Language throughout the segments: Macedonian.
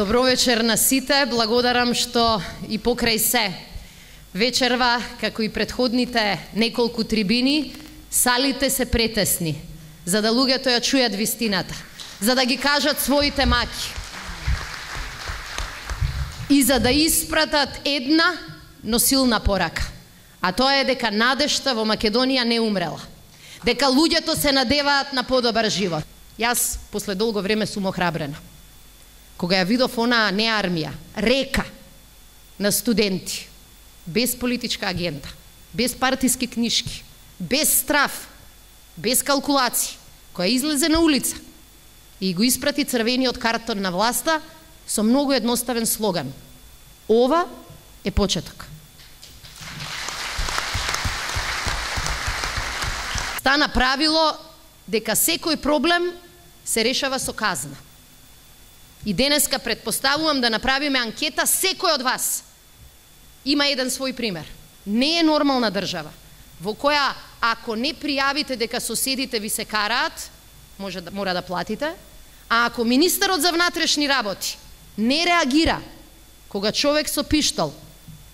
Добро вечер на сите, благодарам што и покрај се вечерва, како и претходните неколку трибини, салите се претесни, за да луѓето ја чујат вистината, за да ги кажат своите маки и за да испратат една, но силна порака. А тоа е дека надежта во Македонија не умрела, дека луѓето се надеваат на подобар живот. Јас после долго време сум охрабрена. Кога ја видов онаа не армија, река на студенти, без политичка агенда, без партиски книшки, без страф, без калкулации, која излезе на улица и го испрати црвениот картон на власта со многу едноставен слоган: ова е почеток. Стана правило дека секој проблем се решава со казна. И денеска предпоставувам да направиме анкета, секој од вас има еден свој пример. Не е нормална држава во која ако не пријавите дека соседите ви се караат, мора да платите, а ако министерот за внатрешни работи не реагира кога човек со пиштол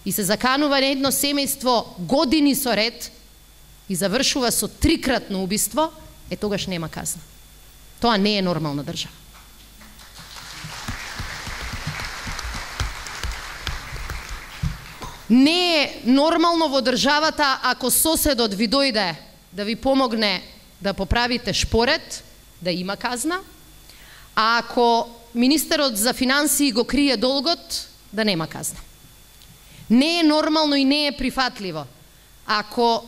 и се заканува на едно семејство години со ред и завршува со 3-кратно убиство, тогаш нема казна. Тоа не е нормална држава. Не е нормално во државата ако соседот ви дојде да ви помогне да поправите шпоред, да има казна, а ако министерот за финансии го крие долгот, да нема казна. Не е нормално и не е прифатливо ако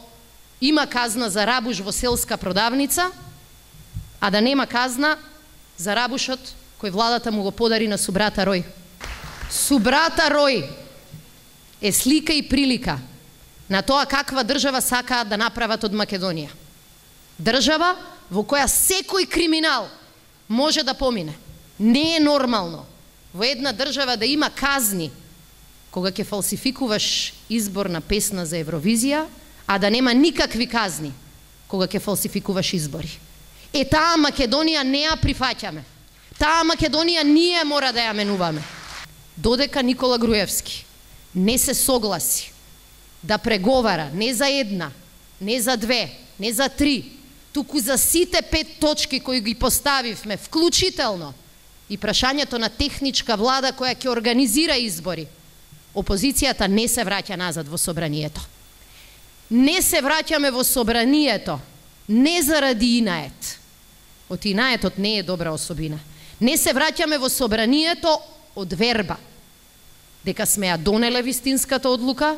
има казна за рабуш во селска продавница, а да нема казна за рабушот кој владата му го подари на субрата Рој. Субрата Рој е слика и прилика на тоа каква држава сакаат да направат од Македонија. Држава во која секој криминал може да помине. Не е нормално во една држава да има казни кога ќе фалсификуваш изборна песна за Евровизија, а да нема никакви казни кога ќе фалсификуваш избори. Таа Македонија не ја прифаќаме. Таа Македонија ние мора да ја менуваме. Додека Никола Груевски не се согласи да преговара не за една, не за две, не за 3, туку за сите 5 точки кои ги поставивме, вклучително и прашањето на техничка влада која ќе организира избори, опозицијата не се враќа назад во собранието. Не се враќаме во собранието не заради инает. Инаетот не е добра особина. Не се враќаме во собранието од верба, дека сме ја донеле вистинската одлука,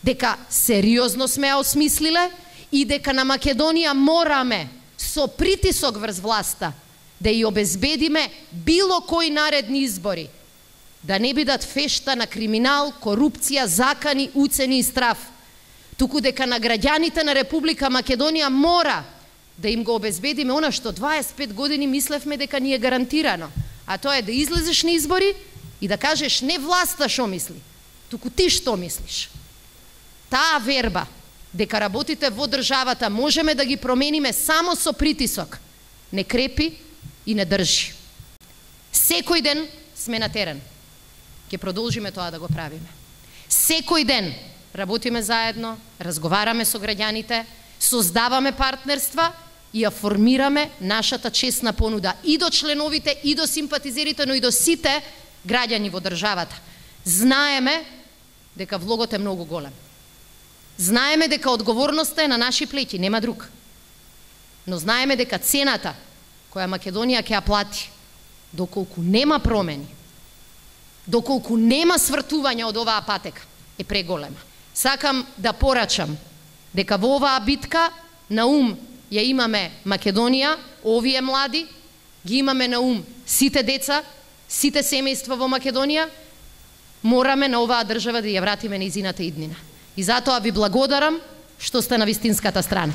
дека сериозно сме ја осмислиле и дека на Македонија мораме со притисок врз власта да ја обезбедиме било кои наредни избори да не бидат фешта на криминал, корупција, закани, уцени и страф, туку дека на граѓаните на Република Македонија мора да им го обезбедиме она што 25 години мислевме дека ни е гарантирано, а тоа е да излезеш на избори и да кажеш не власта што мисли, туку ти што мислиш. Таа верба дека работите во државата можеме да ги промениме само со притисок не крепи и не држи. Секој ден сме на терен. Ќе продолжиме тоа да го правиме. Секој ден работиме заедно, разговараме со граѓаните, создаваме партнерства и ја формираме нашата честна понуда и до членовите, и до симпатизерите, но и до сите граѓани во државата. Знаеме дека влогот е многу голем. Знаеме дека одговорноста е на наши плеќи, нема друг. Но знаеме дека цената која Македонија ќе ја плати, доколку нема промени, доколку нема свртување од оваа патека, е преголема. Сакам да порачам дека во оваа битка на ум ја имаме Македонија, овие млади, ги имаме на ум сите деца, сите семејства во Македонија, мораме на оваа држава да ја вратиме нејзината иднина. И затоа ви благодарам што сте на вистинската страна.